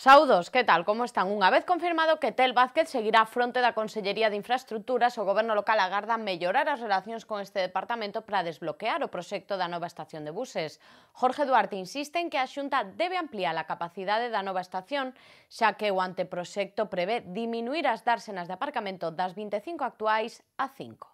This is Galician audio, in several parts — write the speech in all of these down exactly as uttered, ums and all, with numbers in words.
Saúdos, que tal, como están? Unha vez confirmado que Tel Vázquez seguirá á fronte da Consellería de Infraestructuras, o Goberno local agarda mellorar as relacións con este departamento para desbloquear o proxecto da nova estación de buses. Jorge Duarte insiste en que a Xunta debe ampliar a capacidade da nova estación, xa que o anteproxecto prevé diminuir as dársenas de aparcamento das vinte e cinco actuais a cinco.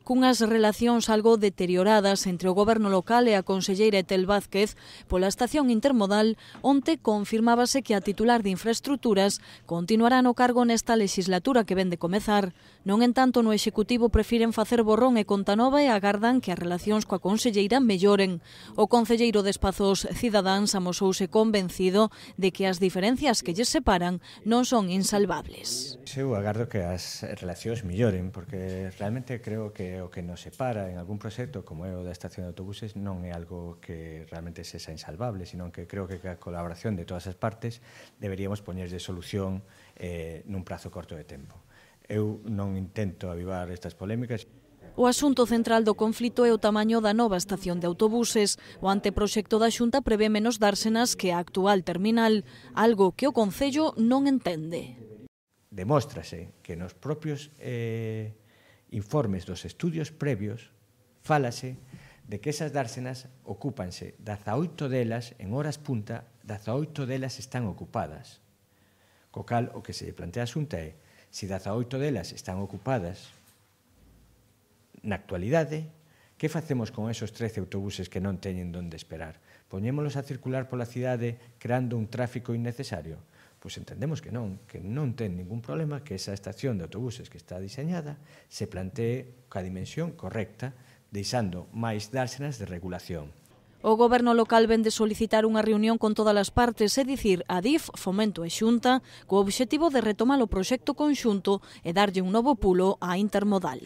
Cunhas relacións algo deterioradas entre o Goberno local e a conselleira Tel Vázquez pola estación intermodal, onte confirmábase que a titular de Infraestructuras continuará no cargo nesta legislatura que ven de comezar. Non en tanto, no Executivo prefiren facer borrón e conta nova e agardan que as relacións coa conselleira melloren. O concelleiro de Espazos Cidadáns amosouse convencido de que as diferencias que lles separan non son insalvables. Eu agardo que as relacións melloren, porque realmente creo que o que nos separa en algún proxecto como é o da estación de autobuses non é algo que realmente sexa insalvable, sino que creo que a colaboración de todas as partes deberíamos poñerlle solución eh, nun prazo corto de tempo. Eu non intento avivar estas polémicas. O asunto central do conflito é o tamaño da nova estación de autobuses. O anteproxecto da Xunta prevé menos dársenas que a actual terminal, algo que o Concello non entende. Demóstrase que nos propios eh, informes dos estudios previos fálase de que esas dársenas ocúpanse dezaoito delas en horas punta, dezaoito delas están ocupadas. Co cal, o que se plantea a Xunta é, se dezaoito delas están ocupadas na actualidade, que facemos con esos trece autobuses que non teñen donde esperar? Poñémolos a circular pola cidade creando un tráfico innecesario? Pois entendemos que non, que non ten ningún problema que esa estación de autobuses que está diseñada se plantee ca dimensión correcta, deixando máis dársenas de regulación. O Goberno local ven de solicitar unha reunión con todas as partes, é dicir, Adif, Fomento e Xunta, co obxectivo de retomar o proxecto conxunto e darlle un novo pulo á intermodal.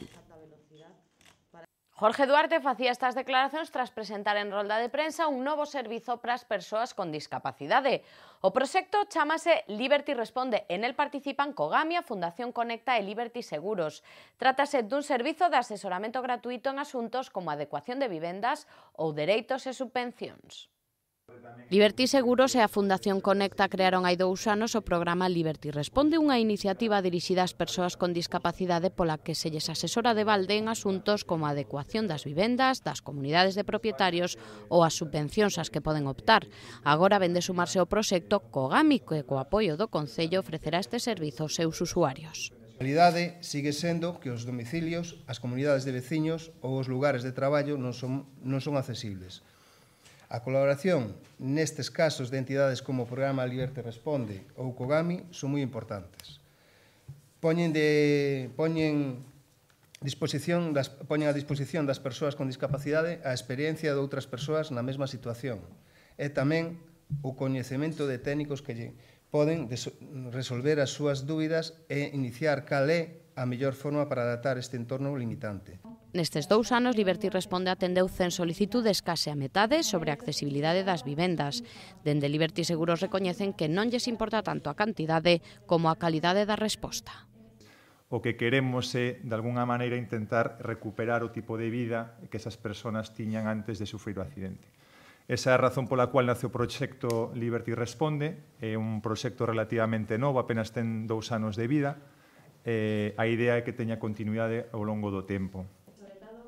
Jorge Duarte facía estas declaracións tras presentar en rolda de prensa un novo servizo para as persoas con discapacidade. O proxecto chámase Liberty Responde. En el participan Cogamia, Fundación Conecta e Liberty Seguros. Trátase dun servizo de asesoramento gratuito en asuntos como adecuación de vivendas ou dereitos e subvencións. Liberty Seguros e a Fundación Conecta crearon hai dous anos o programa Liberty Responde, unha iniciativa dirixida ás persoas con discapacidade pola que se lles asesora de balde en asuntos como a adecuación das vivendas, das comunidades de propietarios ou as subvencións ás que poden optar. Agora ven de sumarse ao proxecto Cogami, que co apoio do Concello ofrecerá este servizo aos seus usuarios. A realidade sigue sendo que os domicilios, as comunidades de veciños ou os lugares de traballo non son, non son accesibles. A colaboración nestes casos de entidades como o programa Liberty Responde ou Cogami son moi importantes. Poñen, de, poñen, disposición das, poñen a disposición das persoas con discapacidade a experiencia de outras persoas na mesma situación e tamén o coñecemento de técnicos que lle poden resolver as súas dúbidas e iniciar cal é a mellor forma para adaptar este entorno limitante. Nestes dous anos, Liberty Responde atendeu cen solicitudes, case a metade, sobre a accesibilidade das vivendas. Dende Liberty Seguros recoñecen que non lles importa tanto a cantidade como a calidade da resposta. O que queremos é, de alguna maneira, intentar recuperar o tipo de vida que esas persoas tiñan antes de sufrir o accidente. Esa é a razón pola cual nace o proxecto Liberty Responde. É un proxecto relativamente novo, apenas ten dous anos de vida. Eh, a idea é que teña continuidade ao longo do tempo.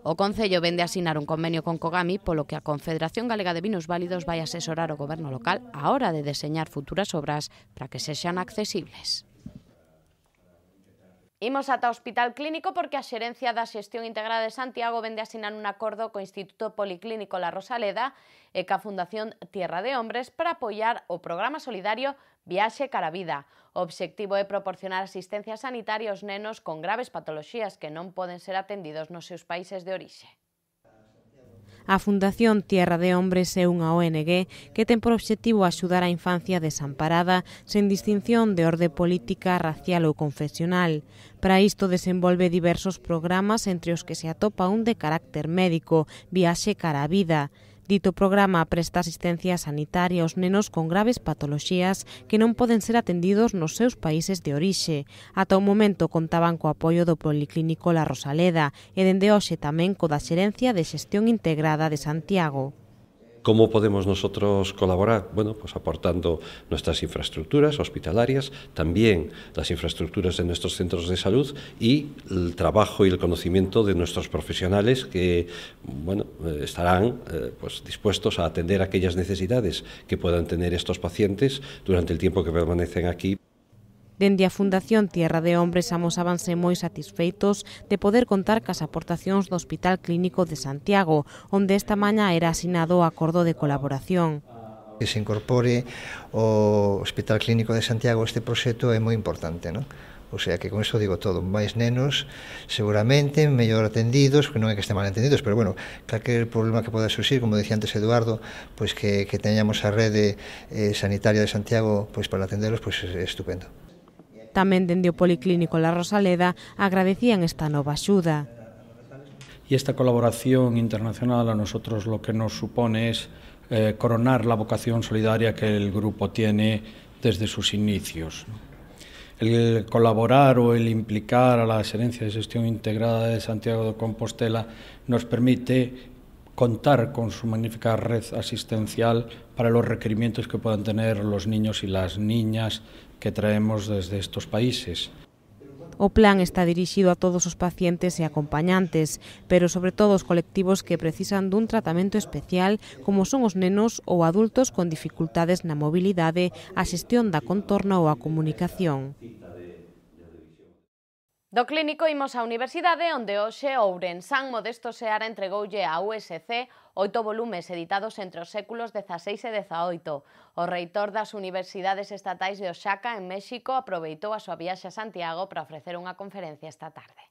O Concello vende a asinar un convenio con Cogami, polo que a Confederación Galega de Minusválidos vai asesorar o Goberno local á hora de deseñar futuras obras para que sexan accesibles. Imos ata o Hospital Clínico porque a Xerencia da Xestión Integrada de Santiago vende a asinar un acordo co Instituto Policlínico La Rosaleda e ca Fundación Tierra de Hombres para apoiar o programa solidario Viaxe cara a Vida. O obxectivo é proporcionar asistencia sanitaria aos nenos con graves patoloxías que non poden ser atendidos nos seus países de orixe. A Fundación Tierra de Hombres é unha O N G que ten por obxectivo axudar a infancia desamparada sen distinción de orde política, racial ou confesional. Para isto desenvolve diversos programas entre os que se atopa un de carácter médico, Viaxe cara a Vida. Dito programa presta asistencia sanitaria aos nenos con graves patoloxías que non poden ser atendidos nos seus países de orixe. Ata o momento contaban co apoio do Policlínico La Rosaleda e dende hoxe tamén co da Xerencia de Xestión Integrada de Santiago. ¿Cómo podemos nosotros colaborar? Bueno, pues aportando nuestras infraestructuras hospitalarias, también las infraestructuras de nuestros centros de salud y el trabajo y el conocimiento de nuestros profesionales que, bueno, estarán eh, pues, dispuestos a atender aquellas necesidades que puedan tener estos pacientes durante el tiempo que permanecen aquí. Dende a Fundación Tierra de Hombres amosábanse moi satisfeitos de poder contar cas aportacións do Hospital Clínico de Santiago, onde esta mañá era asinado o acordo de colaboración. Que se incorpore o Hospital Clínico de Santiago a este proxecto é moi importante, non? O sea que con isto digo todo, máis nenos seguramente mellor atendidos, que non é que estén mal atendidos, pero bueno, calquer problema que poda surxir, como decía antes Eduardo, pois que, que teñamos a rede eh, sanitaria de Santiago pois para atenderos, pois é estupendo. Tamén dende o Policlínico La Rosaleda agradecían esta nova axuda. Y esta colaboración internacional a nosotros lo que nos supone es eh, coronar la vocación solidaria que el grupo tiene desde sus inicios. El colaborar o el implicar a la Xerencia de Xestión Integrada de Santiago de Compostela nos permite contar con su magnífica red asistencial para los requerimientos que puedan tener los niños y las niñas que traemos desde estos países. O plan está dirixido a todos os pacientes e acompañantes, pero sobre todo os colectivos que precisan dun tratamento especial, como son os nenos ou adultos con dificultades na mobilidade, a xestión da contorna ou a comunicación. Do clínico imos á universidade, onde hoxe Ourensán Modesto Seara entregoulle á U S C oito volumes editados entre os séculos dezaseis e dezaoito. O reitor das Universidades Estatais de Oaxaca, en México, aproveitou a súa viaxe a Santiago para ofrecer unha conferencia esta tarde.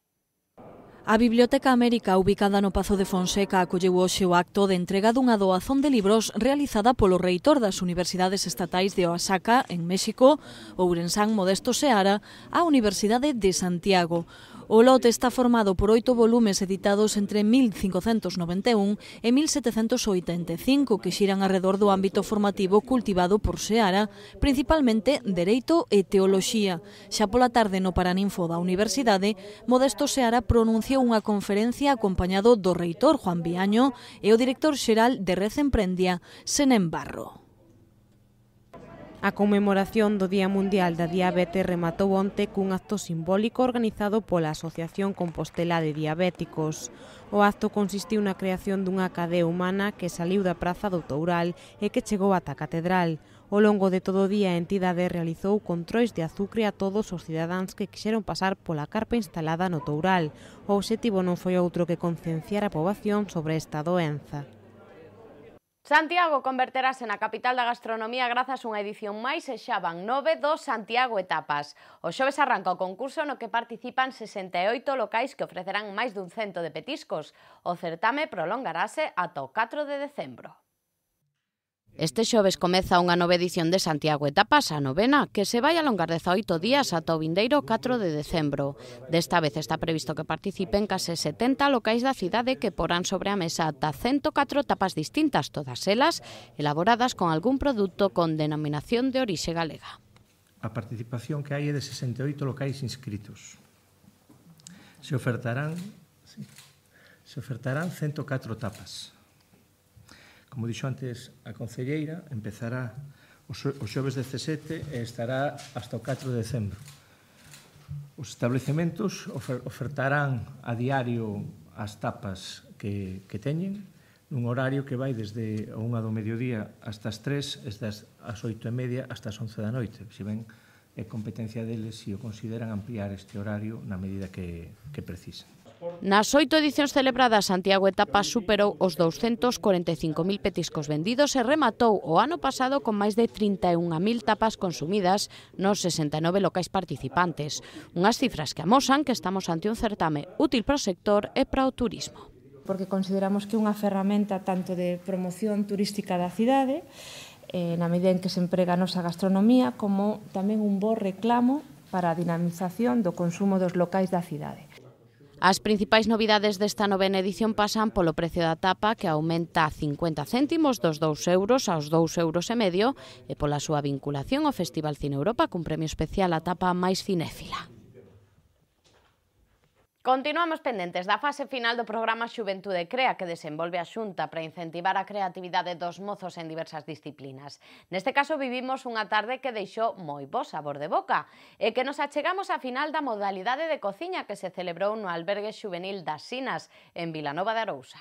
A Biblioteca América, ubicada no Pazo de Fonseca, acolleu hoxe o acto de entrega dunha doazón de libros realizada polo reitor das Universidades Estatais de Oaxaca, en México, Ourensán Modesto Seara, á Universidade de Santiago. O lote está formado por oito volumes editados entre mil cincocentos noventa e un e mil setecentos oitenta e cinco que xiran arredor do ámbito formativo cultivado por Seara, principalmente Dereito e Teoloxía. Xa pola tarde no Paraninfo da Universidade, Modesto Seara pronunciou unha conferencia acompañado do reitor Juan Viaño e o director xeral de Red Emprendia, Senén Barro. A conmemoración do Día Mundial da Diabetes rematou onte cun acto simbólico organizado pola Asociación Compostela de Diabéticos. O acto consistiu na creación dunha cadea humana que saliu da Praza do Toural e que chegou ata a Catedral. Ao longo de todo o día a entidade realizou controis de azucre a todos os cidadáns que quixeron pasar pola carpa instalada no Toural. O obxectivo non foi outro que concienciar a poboación sobre esta doenza. Santiago converterase na capital da gastronomía grazas a unha edición máis e xa van nove dos Santiago Etapas. O xoves arranca o concurso no que participan sesenta e oito locais que ofrecerán máis dun cento de petiscos. O certame prolongarase ata o catro de decembro. Este xoves comeza unha nova edición de Santiago Etapas, a novena, que se vai alongar dezaoito días ata o vindeiro catro de decembro. Desta vez está previsto que participen case setenta locais da cidade que porán sobre a mesa ata ciento catro tapas distintas, todas elas elaboradas con algún produto con denominación de orixe galega. A participación que hai é de sesenta e oito locais inscritos. Se ofertarán, sí, se ofertarán ciento catro tapas. Como dixo antes a concelleira, empezará o xoves dezasete e estará hasta o catro de decembro. Os establecementos ofertarán a diario as tapas que, que teñen nun horario que vai desde a unha do mediodía hasta as tres, desde as oito e media hasta as once da noite. Se ven, é competencia deles se o consideran ampliar este horario na medida que, que precisan. Nas oito edicións celebradas, Santiago Etapas superou os douscentos corenta e cinco mil petiscos vendidos e rematou o ano pasado con máis de trinta e unha mil tapas consumidas nos sesenta e nove locais participantes. Unhas cifras que amosan que estamos ante un certame útil para o sector e para o turismo. Porque consideramos que é unha ferramenta tanto de promoción turística da cidade, eh, na medida en que se emprega a nosa gastronomía, como tamén un bo reclamo para a dinamización do consumo dos locais da cidade. As principais novidades desta novena edición pasan polo precio da tapa, que aumenta a cincuenta céntimos dos dous euros aos dous euros e medio, e pola súa vinculación ao Festival Cine Europa cun premio especial á tapa máis cinéfila. Continuamos pendentes da fase final do programa Xuventude Crea que desenvolve a Xunta para incentivar a creatividade dos mozos en diversas disciplinas. Neste caso vivimos unha tarde que deixou moi bo sabor de boca e que nos achegamos á final da modalidade de cociña que se celebrou no albergue xuvenil das Sinas en Vilanova de Arousa.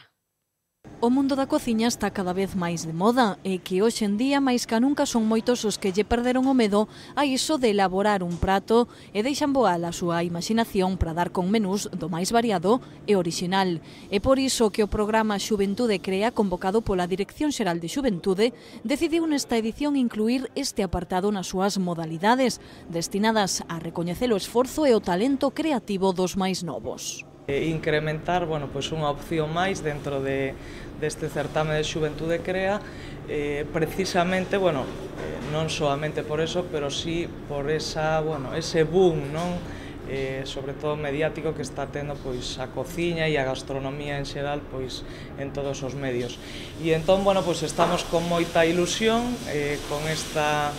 O mundo da cociña está cada vez máis de moda e que hoxe en día máis ca nunca son moitos os que lle perderon o medo a iso de elaborar un prato e deixan voar a súa imaginación para dar con menús do máis variado e orixinal. É por iso que o programa Xuventude Crea, convocado pola Dirección Xeral de Xuventude, decidiu nesta edición incluir este apartado nas súas modalidades, destinadas a recoñecer o esforzo e o talento creativo dos máis novos. E incrementar, bueno, pois unha opción máis dentro de, deste certame de Xuventude Crea, eh, precisamente, bueno, eh, non solamente por eso, pero sí por esa, bueno, ese boom, non? Eh, sobre todo mediático que está tendo pois a cociña e a gastronomía en xeral pois en todos os medios. E entón, bueno, pois estamos con moita ilusión eh, con esta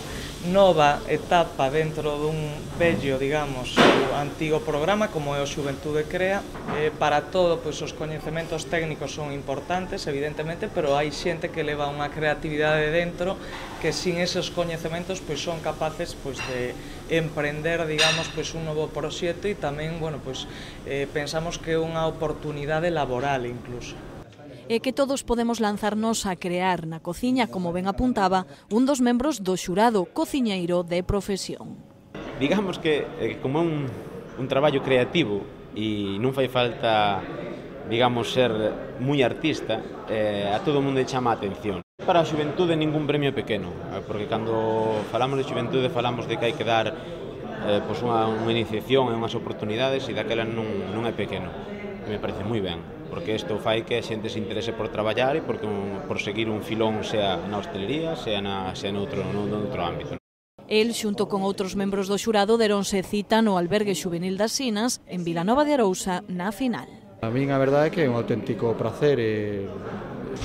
nova etapa dentro dun vello, digamos, antigo programa como é o Xuventude Crea. Eh, para todo, pois os coñecementos técnicos son importantes, evidentemente, pero hai xente que leva unha creatividade dentro que sin esos coñecementos pois son capaces pois de emprender, digamos, pois un novo proxecto e tamén, bueno, pois eh, pensamos que é unha oportunidade laboral incluso. E que todos podemos lanzarnos a crear na cociña, como ben apuntaba un dos membros do xurado, cociñeiro de profesión. Digamos que eh, como un, un traballo creativo e non fai falta, digamos, ser moi artista, eh, a todo o mundo chama a atención. Para a xuventude ningún premio pequeno, porque cando falamos de xuventude falamos de que hai que dar eh, pois unha, unha iniciación e unhas oportunidades e daquela non, non é pequeno. Me parece moi ben, porque isto fai que a xente se interese por traballar e por, por seguir un filón, sea na hostelería, sea, na, sea noutro, noutro ámbito. El, xunto con outros membros do xurado, deronse cita no albergue xuvenil das Sinas, en Vilanova de Arousa, na final. A min a verdade é que é un auténtico prazer e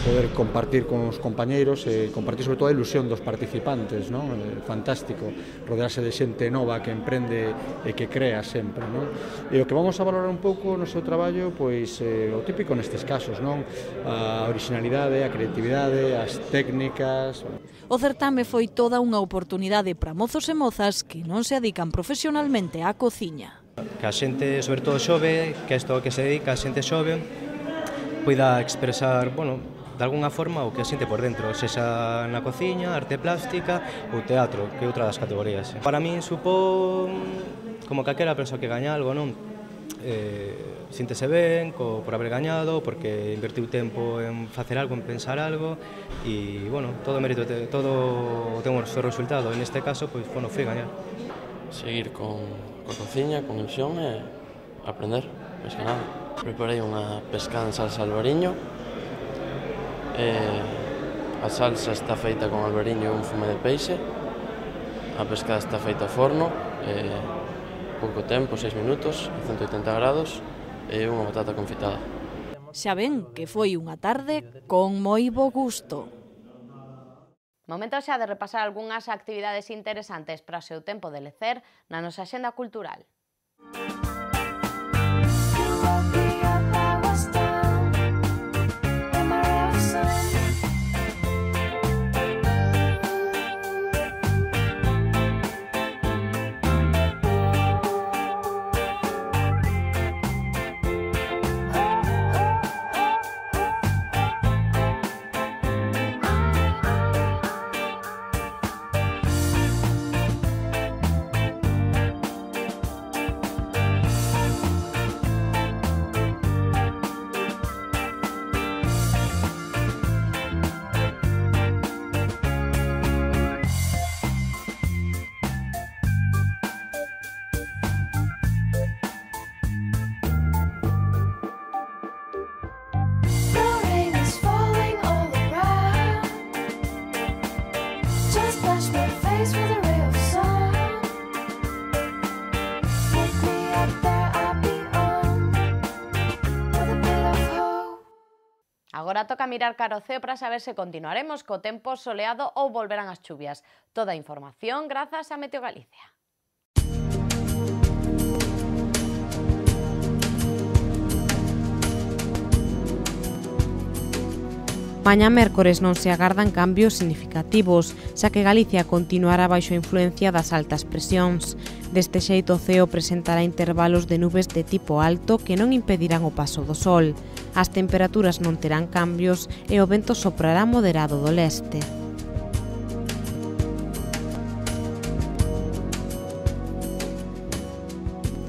poder compartir con os compañeiros e compartir sobre todo a ilusión dos participantes, non? É fantástico rodearse de xente nova que emprende e que crea sempre, non? E o que vamos a valorar un pouco no seu traballo, pois eh, o típico nestes casos, non? A originalidade, a creatividade, as técnicas. O certame foi toda unha oportunidade para mozos e mozas que non se dedican profesionalmente á cociña. Que a xente, sobre todo xove, que isto que se dedica a xente xove, poida expresar, bueno, de alguna forma o que a xente por dentro, sexa na cociña, arte plástica ou teatro, que é outra das categorías. Para min supón como calquera persoa que gaña algo, non? Eh, síntese ben co, por haber gañado, porque invertiu tempo en facer algo, en pensar algo e, bueno, todo mérito, todo ten un seu resultado. En este caso, pois, bueno, foi gañar. Seguir con, con cociña, con ilusión e aprender, máis que nada. Preparei unha pescada en salsa albariño. Eh, a salsa está feita con albariño e un fume de peixe. A pescada está feita ao forno, eh, pouco tempo, seis minutos, a ciento oitenta grados, e unha batata confitada. Xa ven que foi unha tarde con moi bo gusto. Momento xa de repasar algunhas actividades interesantes para o seu tempo de lecer na nosa axenda cultural. Agora toca mirar cara ao ceo para saber se continuaremos co tempo soleado ou volverán as chuvias. Toda a información grazas a Meteo Galicia. Mañá mércores non se agardan cambios significativos, xa que Galicia continuará baixo a influencia das altas presións. Deste xeito o ceo presentará intervalos de nubes de tipo alto que non impedirán o paso do sol. As temperaturas non terán cambios e o vento soprará moderado do leste.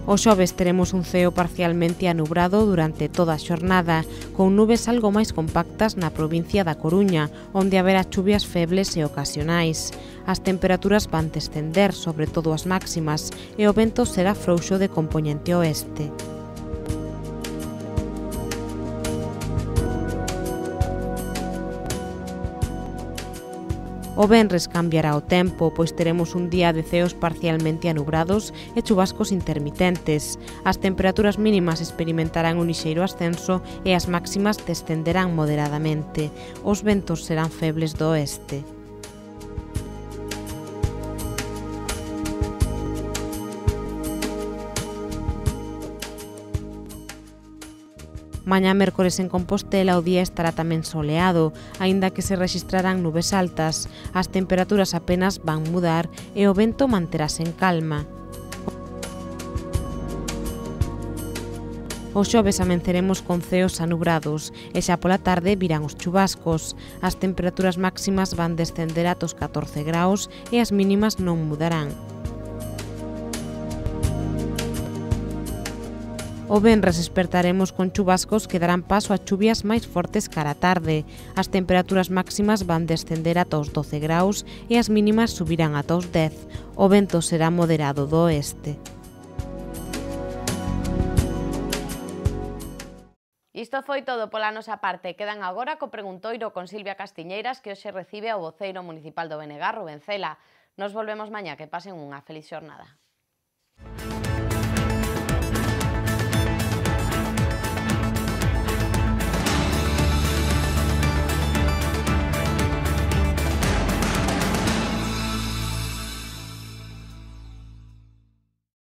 O xoves teremos un ceo parcialmente anubrado durante toda a xornada, con nubes algo máis compactas na provincia da Coruña, onde haberá chuvias febles e ocasionais. As temperaturas van descender, sobre todo as máximas, e o vento será frouxo de compoñente oeste. O venres cambiará o tempo, pois teremos un día de ceos parcialmente anubrados e chubascos intermitentes. As temperaturas mínimas experimentarán un lixeiro ascenso e as máximas descenderán moderadamente. Os ventos serán febles do oeste. Mañá mércores en Compostela o día estará tamén soleado, aínda que se rexistrarán nubes altas. As temperaturas apenas van mudar e o vento manterase en calma. O xoves amenceremos con ceos anubrados e xa pola tarde virán os chubascos. As temperaturas máximas van descender ata os catorce graus e as mínimas non mudarán. O venres despertaremos con chubascos que darán paso a chuvias máis fortes cara a tarde. As temperaturas máximas van descender ata os doce graus e as mínimas subirán ata os dez. O vento será moderado do oeste. Isto foi todo pola nosa parte. Quedan agora co preguntoiro con Silvia Castiñeiras, que hoxe recibe ao voceiro municipal do B N G, Rubén Cela. Nos volvemos mañá. Que pasen unha feliz xornada.